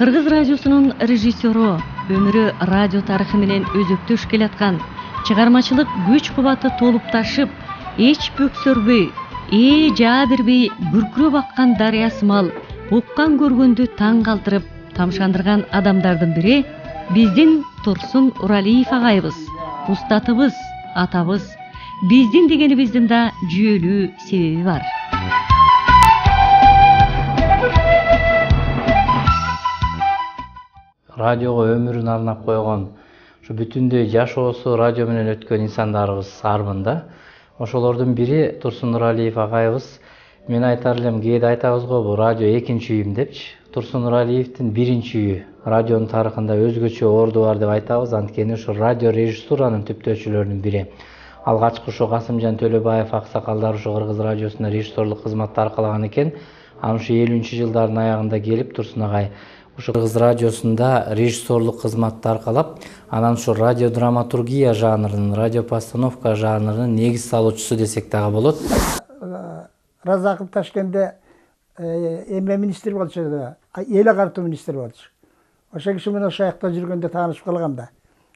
Кыргыз радиосунун режиссеру, өмүрү радио тарыхы менен өзөктөш келаткан, чыгармачылык күч кубаты толуп ташып, эч бөксөрбөй, жаа бербей бүркүрөп аккан дарыя сымал уккан көргөндү таң калтырып, тамшандырган адамдардын бири биздин Турсун Уралиев агайыбыз, устатыбыз, атабыз. Биздин дегенибиздин да жүйөлүү себеби бар. Радиого өмүрүн арнап койгон, ушу бүтүндөй жашоосу радио менен өткөн инсандарыбыз армын да. Ошолордун бири Турсун Уралиев агайыбыз. Мен айтар элем, кээде айтабыз го, бул радио экинчи үйүм депчи. Турсун Уралиевдин биринчи үйү. Радионун тарыхында өзгөчө орду бар деп айтабыз, анткени ушу радио режиссуранын түптөөчүлөрүнүн бири. Алгачкы ушу Касымжан Төлөбаев аксакалдар ушу Кыргыз радиосунда режиссерлук кызматты аркалаган экен. Анан ушу 50-жылдардын аягында келип Турсун агай ушу Кыргыз радиосунда режиссерлук кызматты аркалап, анан ушу радиодраматургия жанрынын, радиопостановка жанрынын негиз салуучусу десек дагы болот. Разаков Ташкентте эмне министр болчу, эл агартуу министри болчу. Ошо киши менен ошол жакта жүргөндө таанышып калгам да.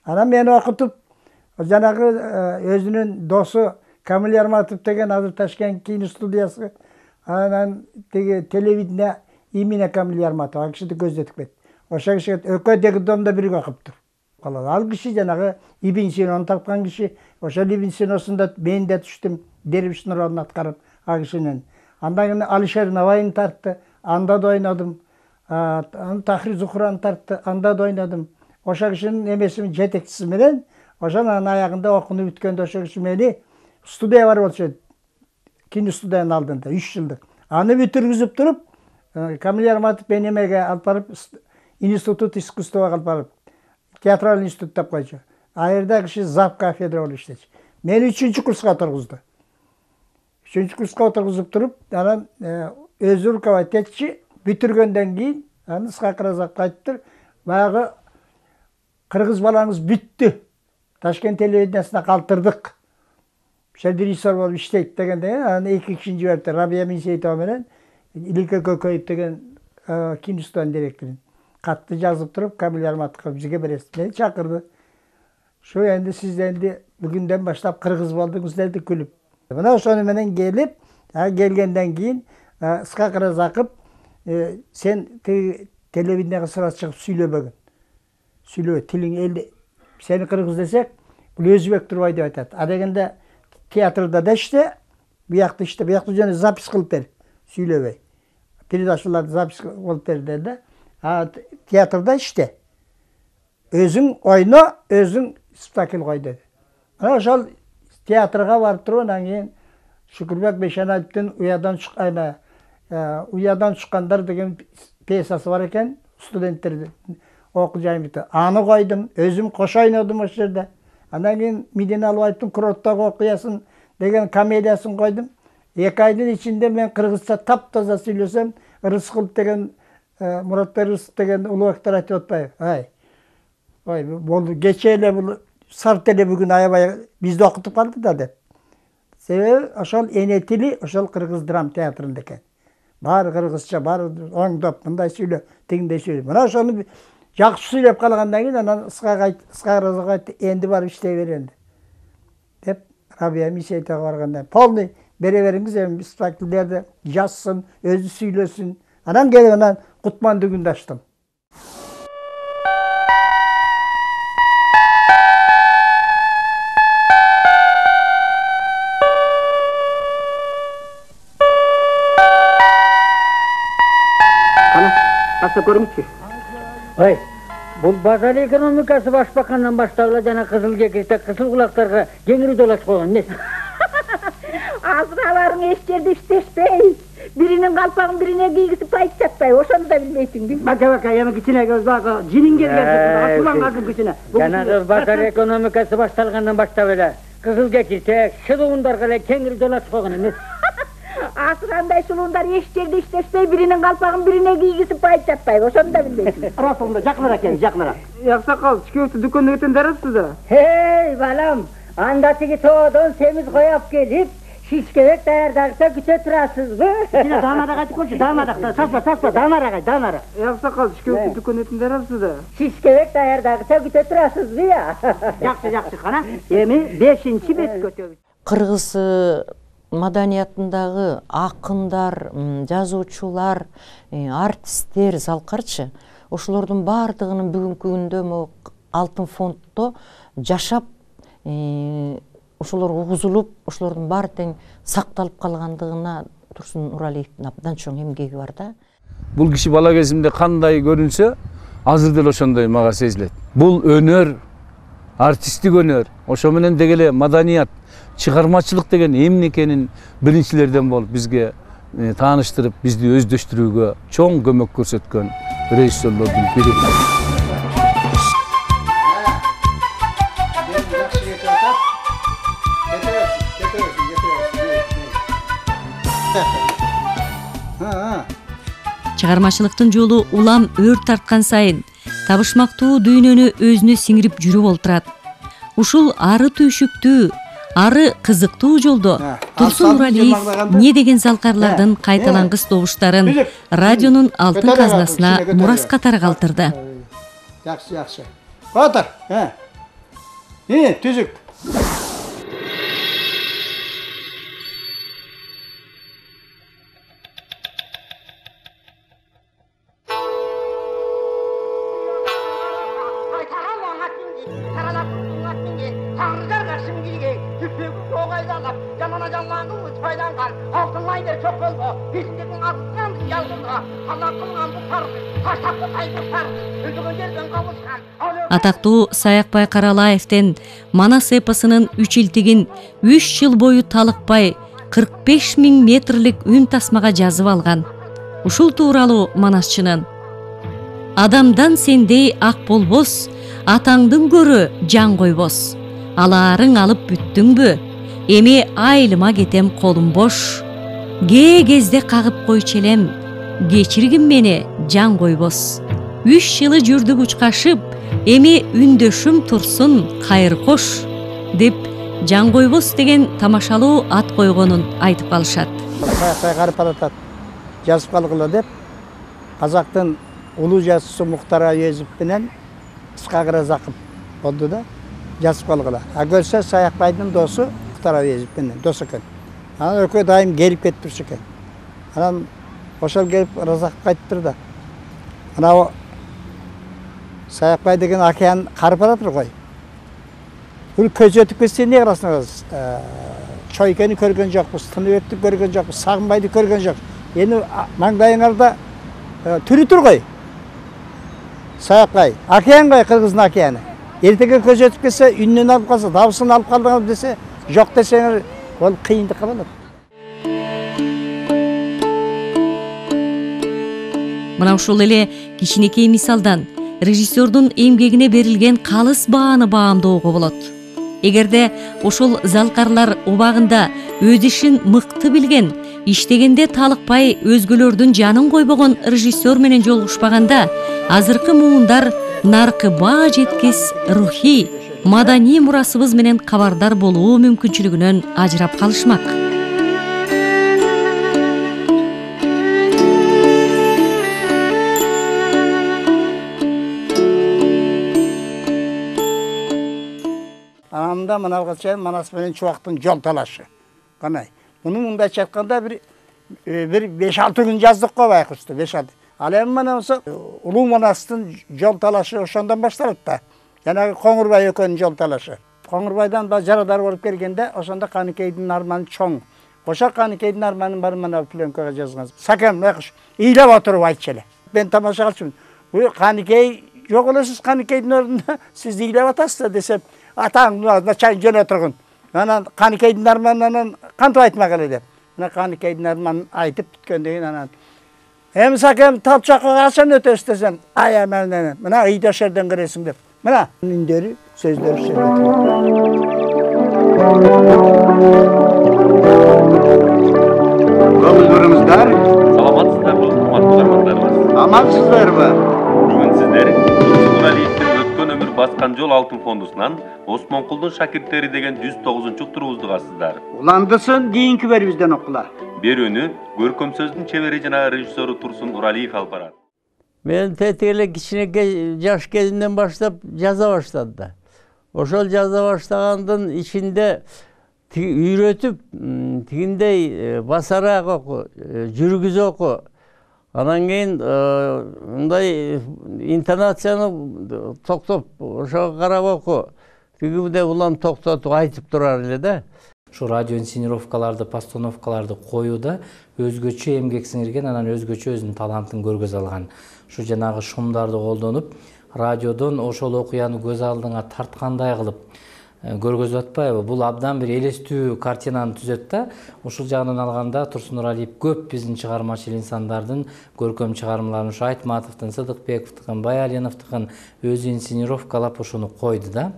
Анан мени окутуп, жанагы өзүнүн досу Камил Ярматов деген азыр Ташкент киностудиясы, анан теги телевидение имени Камил Ярматов, ал кишиди көздөтүп кетти. Ошо киши экөө деги домдо бирге окуптур. Ал киши жанагы Ибн Синону тапкан киши. Ошол Ибн Синосунда мен да түштүм, дервиштин ролун аткарып ал кишинин. Андан кийин Алишер Навайын тартты, анда да ойнодум. Тахир Зухраны тартты, анда да ойнодум. Ошо кишинин эмесинин жетекчиси менен, ошонун аягында окууну бүткөндө ошо киши мени студия бар болчу, киностудиянын алдында 3 жылдык. Аны бүтүргүзүп туруп, Камил Ярматов мени эмеге алып барып, институт искусствого алып барып, театралдык институт деп койчу. А жерде киши зав кафедра болуп иштечү. Мени 3-курска отургузду. 3-курска отургузуп туруп, анан өзү руководить этчи. Бүтүргөндөн кийин, анан Исхак Разаковго айтыптыр, баягы кыргыз балаңыз бүттү. Ташкент телевидениясына калтырдык. Ошо режиссер болуп иштейт дегенден, анан 2 кишини жиберди, Рабия Минсеитова менен Илике Көкөев деген киностудиянын директору. Катты жазып туруп, Камил Ярматовго бизге бересиз. Мени чакырды. Шу энди сиз энди бүгүндөн баштап кыргыз болдуңуз деди күлүп. Мына ошону менен келип, келгенден кийин Исхак Разаков сен телевиденияга сразу чыгып сүйлөбөгүн. Сүйлөбө, тилиң элди. Сени кыргыз десек, бул өзбек турбай деп айтат. А дегенде театрда да иште, буякта иште, буякта жана запись кылып бер. Сүйлөбөй. Передачаларды запись кылып бер деди. А театрда иште. Өзүң ойно, өзүң спектакль кой деди. Мына ошол театрга барып туруп, анан кийин Шүкүрбек Бейшенаевдин Уядан чыккандар деген пьесасы бар экен, студенттерди окуу жайында. Аны койдум, өзүм кош ойнодум ошол жерде. Андан кийин Медина Албаевдин Куроттогу окуясын деген комедиясын койдум. 2 айдын ичинде мен кыргызча таптаза сүйлөсөм, Рыскулов деген Муратбек Рыскулов деген улуубактар айтып атпайбы? Ой, болду, кечээ эле бул сарт эле бүгүн аябай бизди окутуп калды да деп. Себеби ошол эне тили ошол кыргыз драм театрында экен. Баары кыргызча, баары оңдоп мындай сүйлө, тигиндей сүйлө. Мына ошону жакшы сүйлөп калгандан кийин анан Исхак Разаков айтты, энди барып иштей бер энди. Деп Рабия Минсеитовго барганда, полный бере бериңиз, эми спектакльдерди жазсын, өзү сүйлөсүн. Анан келип анан Кутман дүгүндө ачтым. Көрүңүзчү. Ой, бул базар экономикасы башбакандан баштап жана кызыл кекирте, кызыл кулактарга кеңири долаш койгон эмес. Азыр аларың эч жерде иштешпей, биринин калпагын бирине кийгизип пайт жатпайбы, ошону да билбейсиңби? Бака, эми кичине багы жинин келген, ачууланган кичине. Жанагы базар экономикасы башталгандан баштап эле кызыл кекирте, шылуундарга эле кеңири долаш койгон эмес. Азыр андай шылуундар эч жерде иштешпей, биринин калпагын бирине кийгизип пайт жатпайбы, ошону да билбейсиң. Ростомдо жакыныраак экен, жакыныраак. Аксакал, чүкөптү дүкөндө кетен дарапсыз да? Балам, анда тиги тоодон семиз кояп келип, Şişkevek dayardakta güte turasızbı? Yine damara kaçık olsun, damara. Tasma, damara. Sakal şişkevek dükkan etinde arasız da. Şişkevek dayardakta güte turasızbı ya. Жақсы, қана. Эми 5-чи бет көтөбүз. Кыргыз маданиятындагы акындар, жазуучулар, артисттер, залкарчы ошолордун баардыгынын бүгүнкү күндө Алтын фонддо жашап, ошолор угузулуп, ошолордун баары тең сакталып калгандыгына Турсун Нуралиевдин абдан чоң эмгеги бар да. Бул киши бала кезимде кандай көрүнсө, азыр деле ошондой мага сезилет. Бул өнөр, артисттик өнөр, ошо менен деги эле маданият, чыгармачылык деген эмне экенин биринчилерден болуп бизге тааныштырып, бизди өздөштүрүүгө чоң көмөк көрсөткөн режиссерлордун бири. Чыгармачылыктын жолу улам өр тарткан сайын табышмактуу дүйнөнү өзүнө сиңирип жүрүп олтурат. Ушул ары түйшүктүү, ары кызыктуу жолдо Турсун Нуралиев не деген залкарлардын кайталангыс добуштарын радионун алтын казнасына мурас катары калтырды. Жакшы. Отур. Түзүк. Атактуу Саякбай Каралаевден Манас эпосунун 3 илтигин 3 жыл бою талыкпай 45 000 метрлик үн тасмага жазып алган. Ушул тууралуу Манасчынын: адамдан сендей ак болбос, атаңдын көрө жан койбос. Алаарың алып бүттүңбү? Эми айылыма кетем колум бош. Кезде кагып койчу элем, кечиргин мени жан койбос. 3 жылы жүрдүк учкашып, эми үндөшүм турсун кайыр кош деп жан койбос деген тамашалуу ат койгонун айтып калышат. Кайгарып баратат. Жазып калгыла деп казактын улуу жазуучусу Муктар Әуезов менен Исхак Разаков болду да жазып калгыла. Көрсө Саякбайдын досу Муктар Әуезов менен дос экен. Анан экөө дайым келип кетип турчу экен. Анан ошол келип Разаковго айтыптыр да. Анау Саякбай деген океан карып баратыр ғой. Бул көз өтүп кетсе эмне кыласыңыз? Чойкени көргөн жокпуз, Тыныбекти көргөн жокпуз, Сагынбайды көргөн жок. Эми маңдайыңарда түрү тур ғой. Саякбай, океан ғой, Кыргыздын океаны. Эртеге көз өтүп кетсе, үнүнөн алып калса, дабысын алып калдыңыз десе, жок десеңер, ол кыйындыкка болот. Мына ушул эле кичинекей мисалдан режиссердун эмгегине берилген калыс бааны баамдоого болот. Эгерде ошол залкарлар убагында өз ишин мыкты билген, иштегенде талыкпай өзгөлөрдүн жанын койбогон режиссер менен жолугушпаганда, азыркы муундар наркы баа жеткис рухий, маданий мурасыбыз менен кабардар болуу мүмкүнчүлүгүнөн ажырап калышмак. Анамда мынага чейин Манас менен Чубактын жол талашы. Канай. Муну мындайча айтканда бир 5-6 күн жаздык го байкушту, 5-6. Ал эми мына болсо Улуу Манастын жол талашы ошондон башталат да. Жанагы Коңурбай экөөнүн жол талашы. Коңурбайдан жарадар болуп келгенде, ошондо Каныкейдин арманы чоң. Ошо Каныкейдин арманын баарын мына пленкага жазган. Сакем байкуш ыйлап отуруп айтчу эле. Мен тамаша кылчумун. Бул Каныкей жок элесиз, Каныкейдин ордунда сиз ыйлап атасыз десем, атаң чайын жөнө тургун. Анан Каныкейдин арманынан кантип айтмак эле деп. Мына Каныкейдин арманын айтып бүткөндөн кийин анан эми Сакем Талчакка качан өтөсүз десем, ай менен мына ыйда шерден киресиң деп. Мына үндөрү, сөздөрү сөйлөтүлөт. Көңүлдөрүңүздөр саламатсыздарбы, урматтуу замандарыбыз? Амансыздарбы? Бүгүн сиздер Турсун Нуралиевдин өткөн өмүр баскан жол алтын фондусунан Осмонкулдун шакирттери деген 109-уктурубузду кассыздар. Уландысын кийинки берибизден окула. Берүүнү көркөм сөздүн чебери жана режиссеру Турсун Нуралиев алып барат. Мен тетиги кичинекей жаш кезимден баштап жаза баштадым да. Ошол жаза баштагандын ичинде үйрөтүп, тигиндей басараак оку, жүргүзө оку. Анан кийин мындай интонацияны токтоп, ошого карап оку. Тигиде улам токтотуп айтып турар эле да. Ушу радио инсценировкаларды, постановкаларды коюуда өзгөчө эмгек сиңирген, анан өзгөчө өзүнүн талантын көргөзө алган. Ушу жанагы шумдарды колдонуп, радиодон ошол окуяны көз алдыңа тарткандай кылып көргөзүп атпайбы? Бул абдан бир элестүү картинаны түзөт да. Ушул жагынан алганда Турсун Нуралиев көп биздин чыгармачыл инсандардын көркөм чыгармаларын, ушу Айтматовдун, Сыдыкбековдун, Баялиновдун өзү инсценировкалап ушуну койду да.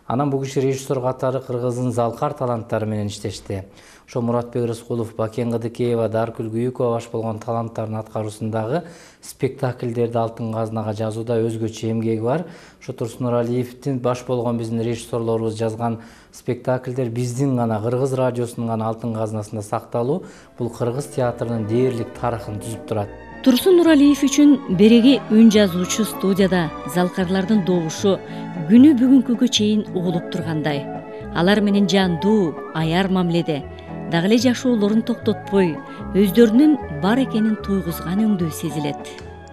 Анан бул киши режиссер катары кыргыздын залкар таланттары менен иштешти. Ошо Муратбек Рыскулов, Бакен Кыдыкеева, Даркүл Күйүкова баш болгон таланттардын аткаруусундагы спектакльдерди алтын казнага жазууда өзгөчө эмгеги бар. Ошо Турсун Нуралиевдин баш болгон биздин режиссерлорубуз жазган спектакльдер биздин гана кыргыз радиосунун гана алтын казнасында сакталуу, бул кыргыз театрынын дээрлик тарыхын түзүп турат. Турсун Нуралиев үчүн береги үн жазуучу студияда залкарлардын добушу күнү бүгүнкүгө чейин угулуп тургандай. Алар менен жандуу, аяр мамиледе, дагы эле жашоолорун токтотпой, өздөрүнүн бар экенин туйгузган өңдүү сезилет.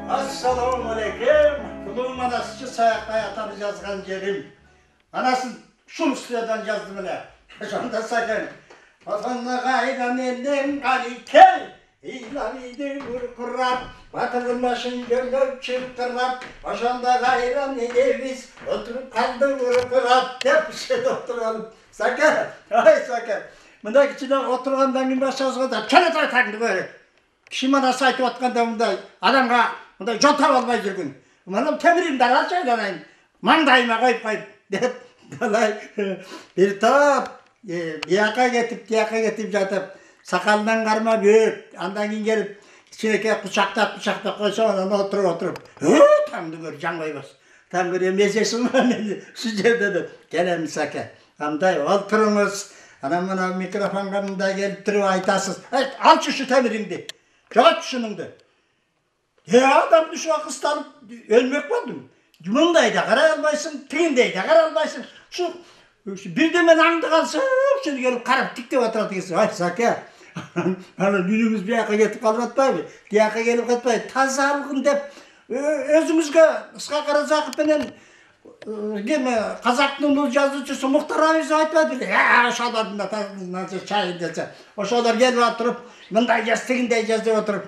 Ассаламу алейкум. Кулум анасы саяктай атаны жазган жерим. Анасын шул студиядан жаздым эле. Ошондо сакен. Атанга кайдан элден каликел. İlamidir kurkurat, batırın başın gönlüm çırptırap, başında gayran edeviz, oturup kaldı kurkurat, hep bir şeyde oturalım. Sakın, ay sakın. Bunda içinde oturgandan gün başlasın da, çöre takdı böyle. Kişi bana saytı otkanda bunda, adamga bunda jota olmay жүрgün. Bana temirim dara çaylanayım, mandayıma koyup, deyip, dalay, bir tap, diyaka getip jatıp, sakalından karma büyük, andan keyin gelip içineki kucaktab koysa ondan oturup, tamdı gör, can koymaz. Tam görüyor, mezesi mi? Şu yerde de, gelemiz sake. Amday, oturunuz, anam bana mikrofon kanında gelip durup aytasız. Al şu temirimdi, çok şunundu. Ya adam şu akıslanıp ölmek vardım. Cumundaydı, kara almaysın, tigindeydi, kara almaysın. Şu birden andı kalsa, şimdi gelip karıp tikte oturatı geçsin. Ay sake. Ana günümüz bir yaka getip kalmatpaydı. Bir yaka gelip katpaydı. Tazalığın dep özümüzge ıska Karazakıp menen Kazaktın bu yazıcısı Muhtar Aviz aytmadı. Ya oşalardan da nasıl çay dese. Oşalar gelip oturup mınday yaz, tigindey yaz dep oturup.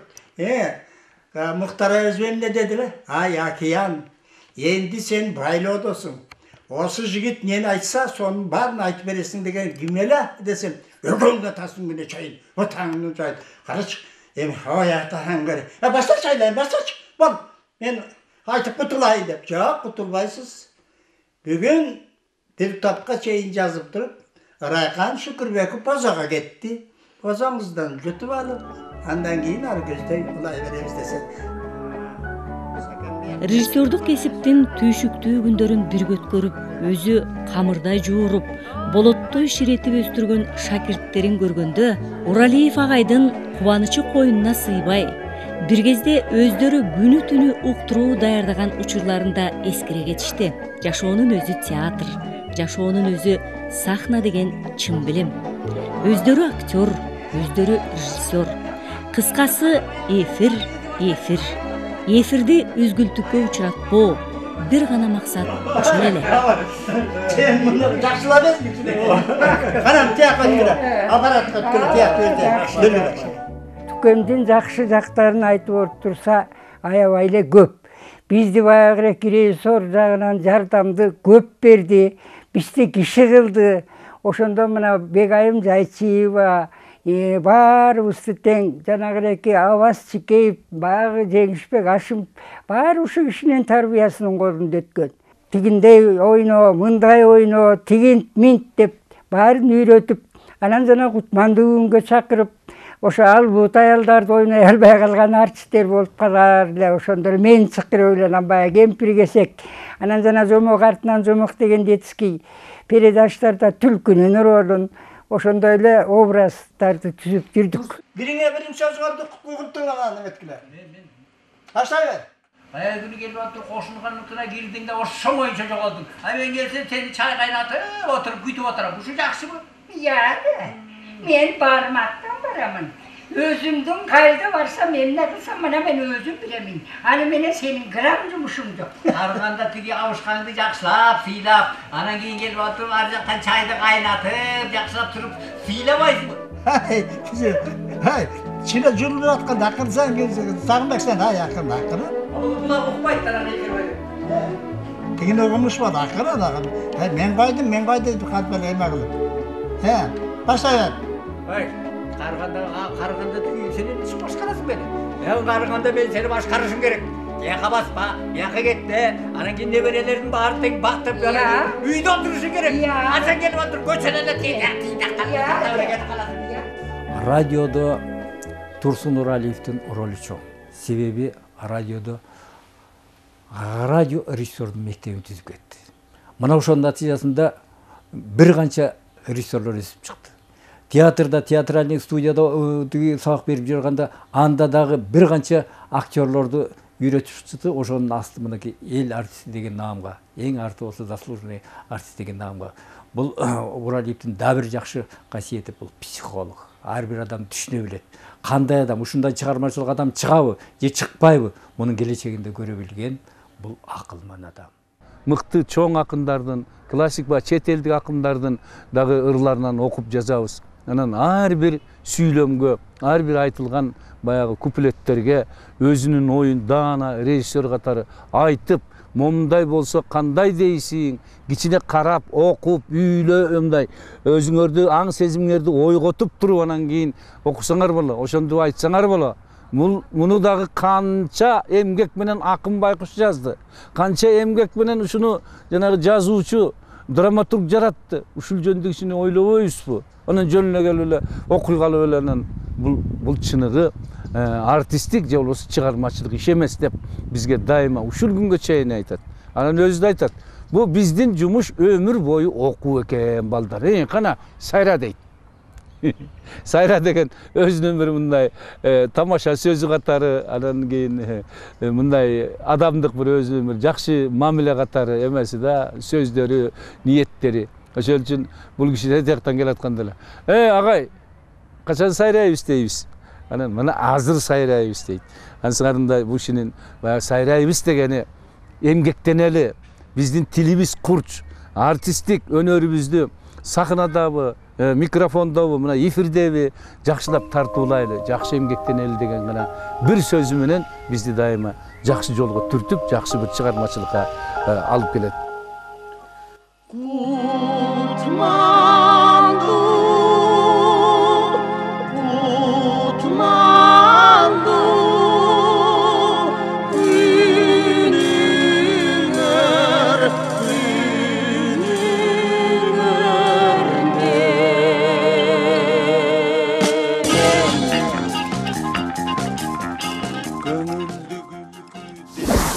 Muhtar Aviz benim ne dediler? Ay Akiyan, endi sen baylı odosun. Осы жігіт нені айтса, соның барын айтып бересің деген кимеле десем, өгөңгө тасын күнө чайын, отаңның чайын. Карач, эми ой атаң көр. Баштач айлайын, баштач. Бол, мен айтып кутулайын деп. Жок, кутулбайсыз. Бүгүн бир тапка чейин жазып туруп, Райкан Шүкүрбеков бозого кетти. Бозоңуздан жүтүп алып, андан кийин ары көздөй улай беребиз десе. Режиссердук кесиптин түйшүктүү күндөрүн бирге өткөрүп, өзү камырдай жууруп, болоттой ширетип өстүргөн шакирттерин көргөндө, Уралиев агайдын кубанычы коюнуна сыйбай, бир кезде өздөрү күнү түнү уктуруу даярдаган учурларында эскере кетишти. Жашоонун өзү театр, жашоонун өзү сахна деген чын билим. Өздөрү актер, өздөрү режиссер. Кыскасы эфир. Эфирди үзгүлтүккө учуратпоо, бир гана максат ошол эле. Сен муну жакшылап эмесмисиң? Карам тияка жүрө, аппаратка өткөрүп тияк. Түкөмдүн жакшы жактарын айтып турса, аябай эле көп. Бизди баягы режиссер жагынан жардамды көп берди, бизди киши кылды. Ошондо мына Бегайым Жайчиева, баарыбызды тең, жанагы Аваз Чикеев, баягы Жеңишбек Ашимов, баары ушу кишинин тарбиясынын колунда өткөн. Тигиндей ойно, мындай ойно, тигинт минт деп баарын үйрөтүп, анан жана Кутманды күнгө чакырып, ошо албут аялдарды ойной албай калган артисттер болуп калар эле. Ошондор мен чакырып эле баягы кемпир кесек, анан жана жомок артынан жомок деген детский передачаларда түлкүнүн ролун ошондой эле образдарды түзүп жүрдүк. Бириңе биринчи сөз кылды, куткугунтуган эметкилер. Баштай бер. Баягы күнү келип атып кошулганыкына кирдиң да ошо боюнча жоголдуң. Мен келсем сени чай кайнатып отуруп күтүп отурам. Ушу жакшыбы? Мен бармактан барамын. Өзүмдүн кайда барсам эмне кылсам мына мен өзүм билемин. Аны менен сенин грамм жумушуң жок. Барганда тиги абышкаңды жакшылап, сыйлап, анан кийин келип отуруп ар жактан чайды кайнатып, жакшылап туруп сыйлабайсыңбы? Чина жүрүп атканда акырсаң, Сагынбек сен акырын. Була укпайт анан экен. Тигин угумуш бар, акырын. Мен койдум кантип эле эме кылып. Баштай бер. Карыганда тиги сен эмне үчүн башкарасың мени? Карыганда мен сени башкарышым керек. Яка баспа, яка кетте, анан кийин неберелердин баарын тең бактырып, үйдө отурушуң керек. Сен келип отуруп көчөнө эле кетип каласың. Радиодо Турсун Нуралиевдин ролу чоң. Себеби радиодо радио режиссердун мектебин түзүп кетти. Мына ошонун натыйжасында бир канча режиссерлор өсүп чыкты. Театрда, театральный студияда сабак берип жүргөндө анда дагы бир канча актерлорду үйрөтүп чыкты. Ошонун асты мынакей эл артисти деген наамга, эң арты болсо заслуженный артист деген наамга. Бул Нуралиевдин да бир жакшы касиети бул психолог. Ар бир адам түшүнө билет. Кандай адам, ушундай чыгармачылык адам чыгабы же чыкпайбы, мунун келечегинде көрө билген бул акылман адам. Мыкты чоң акындардын, классик ба чет элдик акындардын дагы ырларынан окуп жазабыз. Анан ар бир сүйлөмгө, ар бир айтылган баягы куплеттерге өзүнүн оюн даана режиссер катары айтып, момундай болсо кандай дейсиң, кичине карап, окуп, үйлө мындай өзүңөрдү аң сезимиңерди ойготуп туруп анан кийин окусаңар боло, ошондо айтсаңар боло. Муну дагы канча эмгек менен Акын Байкуш жазды. Канча эмгек менен ушуну жанагы жазуучу, драматург жаратты. Ушул жөнүндө кичине ойлобойбузбу? Анан жөнүнө келип эле окуй калып эле анан бул чыныгы артисттик же болбосо чыгармачылык иш эмес деп бизге дайыма ушул күнгө чейин айтат. Анан өзү да айтат. Бул биздин жумуш өмүр бою окуу экен балдар. Кана сайра дейт. Сайра деген өзүнүн бир мындай тамаша сөзү катары, анан кийин мындай адамдык бир өзүнүн бир жакшы мамиле катары эмеси да, сөздөрү, ниеттери. Ошол үчүн бул киши тияктан келатканда эле, агай, качан сайрайбыз дейбиз. Анан мына азыр сайрайбыз дейт. Ансыңарында бул кишинин баягы сайрайбыз дегени эмгектенели, биздин тилибиз курч, артисттик өнөрүбүздү сахнадабы, микрофондобу, мына эфирдеби жакшылап тартуулайлы, жакшы эмгектенели деген гана бир сөзү менен бизди дайыма жакшы жолго түртүп, жакшы бир чыгармачылыкка алып келет.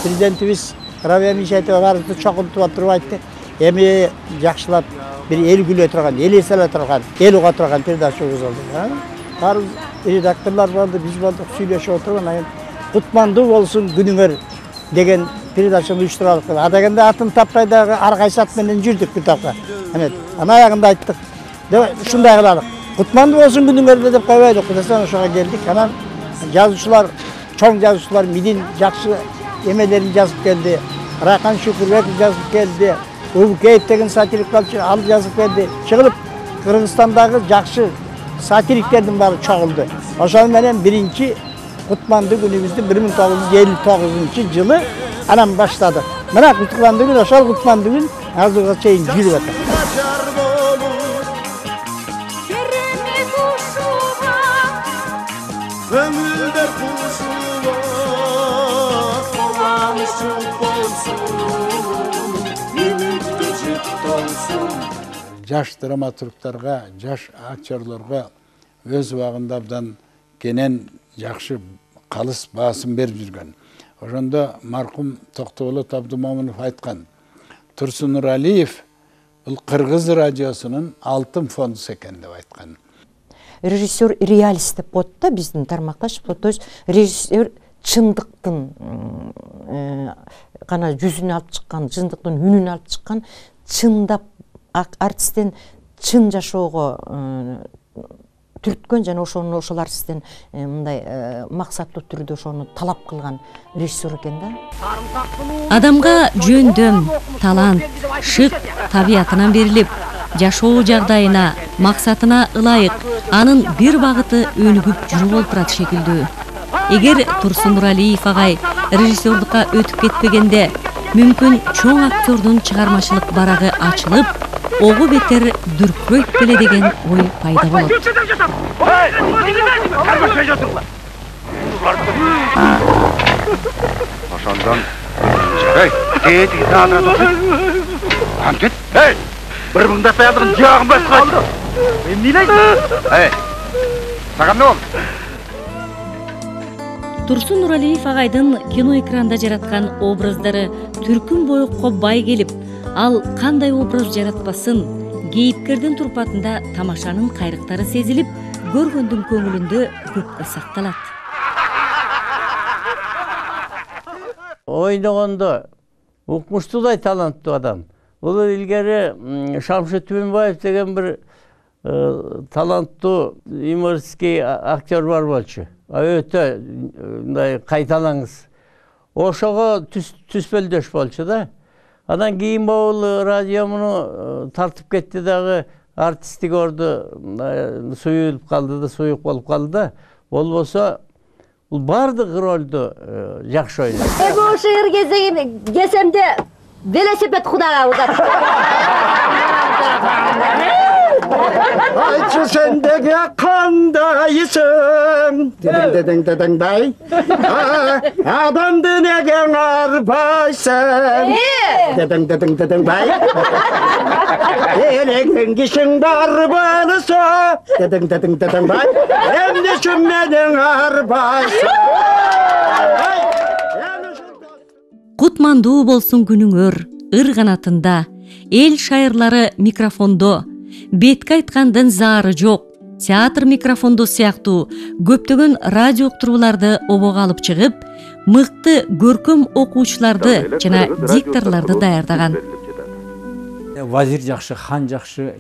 Президентибиз Рабия Мишайтова баарыбызды чогултуп отуруп айтты. Эми жакшылап бир эл күлө турган, эл эс ала турган, эл уга турган передача өткөзүлдү. Баарыбыз редакторлор болду, биз болдук, сүйлөшүп отуруп, анан кутмандуу болсун күнүңөр деген передачаны уюштуралык. Адаганда атын таппай дагы ар кайсы ат менен жүрдүк бир тапка. Анан аягында айттык. Ушундай кылалык. Кутмандуу болсун күнүңөр деп койбойлук. Кудасан ошого келдик. Анан жазуучулар, чоң жазуучулар Мидин жакшы эмелерин жазып келди. Райкан Шукурбеков жазып келди. Убукеев деген сатирик балчы ал жазып келди. Чыгылып Кыргызстандагы жакшы сатириктердин баары чогулду. Ошол менен биринчи кутмандуу күнүбүздү 1959-жылы анан баштадык. Мына кутмандуу күн, ошол кутмандуу күн азыркыга чейин жүрүп атат. Жаш драматургтарга, жаш актерлорго өз убагында абдан кенен жакшы калыс баасын берип жүргөн. Ошондо маркум Токтоболот Абдумомунов айткан, Турсун Нуралиев бул Кыргыз радиосунун алтын фондусу экен деп айткан. Режиссер реалист деп коет да биздин тармакташ. То есть режиссер чындыктын гана жүзүн алып чыккан, чындыктын үнүн алып чыккан, чындап артисттен чын жашоого түрткөн жана ошол артисттен мындай максаттуу түрдө ошону талап кылган режиссер экен да. Адамга жөндөм, талант, шык табиятынан берилип, жашоо жагдайына, максатына ылайык анын бир багыты өнүгүп жүрүп олтурат шекилдүү. Эгер Турсун Нуралиев агай режиссерлукка өтүп кетпегенде, мүмкүн чоң актердун чыгармачылык барагы ачылып, ого бетер дүркүрөйт беле деген ой пайда болот. Ошондон жарай, тетиги таатырат окуйт. Антет, бир мыңдап аялдын жагын баскан. Эмне ойлойсуң? Сага эмне болду? Турсун Нуралиев агайдын кино экранда жараткан образдары түркүн боюкка бай келип, ал кандай образ жаратпасын, кейипкердин турпатында тамашанын кайрыктары сезилип, көргөндүн көңүлүндө көпкө сакталат. Ойногондо укмуштуудай таланттуу адам. Бул илгери Шамшит Түбөнбаев деген бир таланттуу юмористский актер бар болчу. Өтө мындай кайталаңыз. Ошого түспөлдөш болчу да. Анан кийин могул радиомуну тартып кетти дагы, артисти көрдү, суюлуп калды да, суюк болуп калды да. Болбосо бул бардык ролду жакшы ойнойт. Бул шыгыр кеземде велосипед кудага удат. Айтчы сендеге кандайсың? Дедең-дедең-дедең-дай. Адамды неге арбайсың? Дедең-дедең-дедең-дай. Элеген кишиң бар болсо, дедең-дедең-дедең-дай. Эмне үчүн менен арбайсың? Кутмандуу болсун күнүңөр, ыр канатында, эл шайырлары микрофондо, бетке айткандын заары жок, театр микрофондо сыяктуу көптөгөн радио уктурууларды обого алып чыгып, мыкты көркөм окуучуларды жана дикторлорду даярдаган. Вазир жакшы, хан жакшы,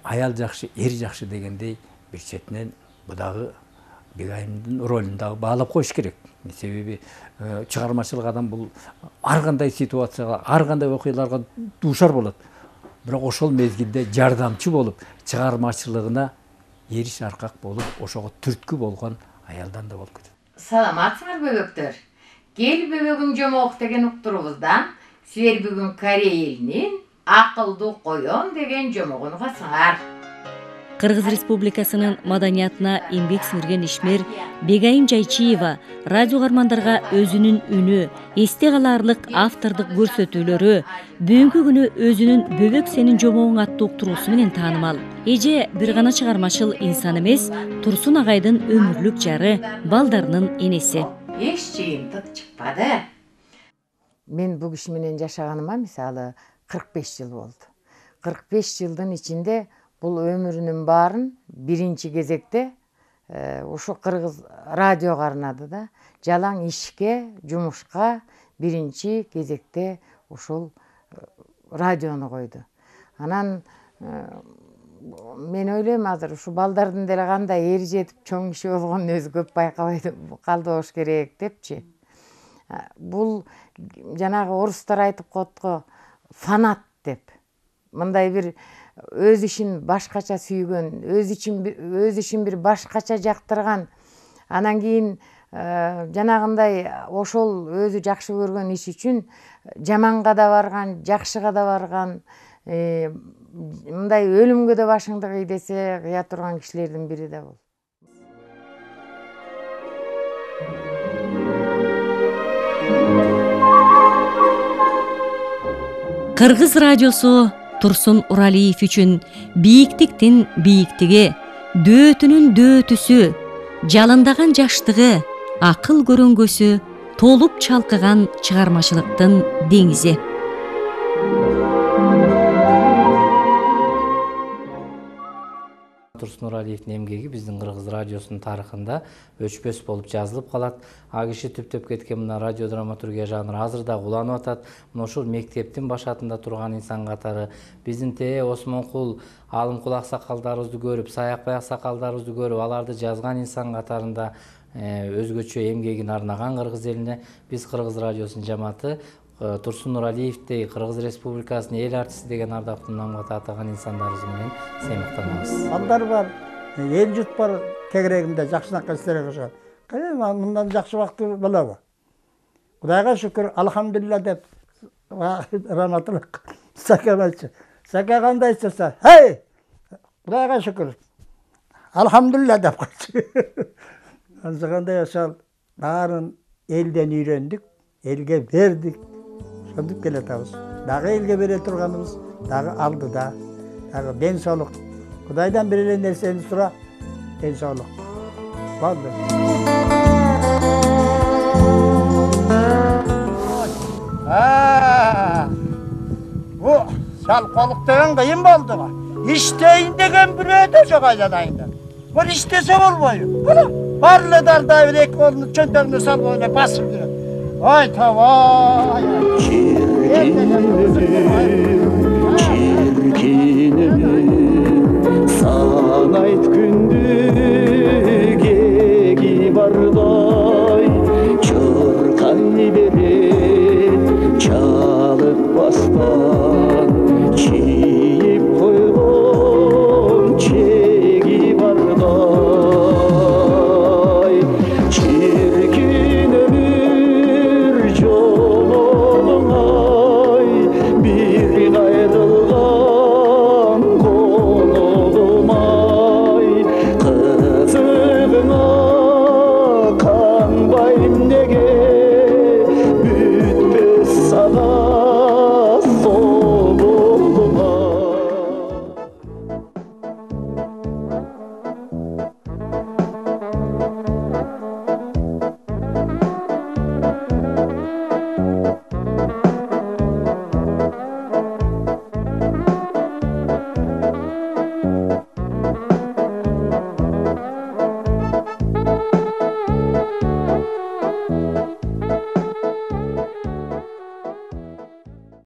аял жакшы, эр жакшы дегендей бир четинен бу дагы Бегайымдын ролун дагы баалап коюш керек. Себеби чыгармачылык адам бул ар кандай ситуацияга, ар кандай окуяларга дуушар болот. Бирок ошол мезгилде жардамчы болуп, чыгармачылыгына эриш аркак болуп, ошого түрткү болгон аялдан да болуп кетет. Саламатсыңар бөбөктөр. Кел бөбөгүм жомок деген уктуруубуздан силер бүгүн Корей элинин акылдуу коён деген жомогун угасыңар. Кыргыз Республикасынын маданиятына эмгек сиңирген ишмер Бегайым Жайчиева радио кармандарга өзүнүн үнү, эсте калаарлык автордук көрсөтүүлөрү, бүгүнкү күнү өзүнүн Бөбөк сенин жомогуң аттуу уктуруусу менен таанымал. Эже бир гана чыгармачыл инсан эмес, Турсун агайдын өмүрлүк жары, балдарынын энеси. Эч жыйынтык чыкпады. Мен бул киши менен жашаганыма мисалы 45 жыл болду. 45 жылдын ичинде бул өмүрүнүн баарын биринчи кезекте ушу Кыргыз радиого арнады да. Жалаң ишке, жумушка биринчи кезекте ушул радиону койду. Анан мен ойлойм азыр ушу балдардын деле кандай эри жетип чоң киши болгонун өзү көп байкабай калды болуш керек депчи. Бул жанагы орустар айтып коет го, фанат деп. Мындай бир өз ишин башкача сүйгөн, өз ишин бир башкача жактырган, анан кийин жанагындай ошол өзү жакшы көргөн иш үчүн жаманга да барган, жакшыга да барган, мындай өлүмгө да башыңды кый десе кыя турган кишилердин бири да бул. Кыргыз радиосу Турсун Нуралиев үчүн бийиктиктин бийиктиги, дөөтүнүн дөөтүсү, жалындаган жаштыгы, акыл көрөнгөсү, толуп чалкыган чыгармачылыктын деңизи. Турсун Нуралиевдин эмгеги биздин Кыргыз радиосунун тарыхында өчпөс болуп жазылып калат. А киши түптөп кеткен мына радиодраматургия жанры азыр да уланып атат. Мына ушул мектептин башатында турган инсан катары биздин Осмонкул Алымкул аксакалдарыбызды көрүп, Саякбай аксакалдарыбызды көрүп, аларды жазган инсан катарында өзгөчө эмгегин арнаган кыргыз элине биз Кыргыз радиосунун жамааты Турсун Нуралиевди Кыргыз Республикасынын эл артисти деген ардактуу намга татыган инсандарыбыз менен сыймыктанабыз. Балдар бар, эл жут бар тегерегинде жакшынакай иштер кылышат. Мындан жакшы убакыт болобу? Кудайга шүкүр, алхамдулилла деп раматылык сакамачы. Сака кандай часа? Хей! Кудайга шүкүр. Алхамдулилла деп калчы. Анжагандай ошол баарын элден үйрөндүк, элге бердик. Ошондуп келатабыз. Дагы элге бере турганыбыз дагы алдыда. Дагы ден соолук. Кудайдан бир эле нерсени сура, ден соолук. Болду. Бу салколук деген кыйын болду го. İşteyin деген бирөө да жок айданайында. Бул иштесе болбойбу? Бар эле дарда бир эки колуну чөнтөгүнө салып ойнап басып жүрөт. Ой, тавай.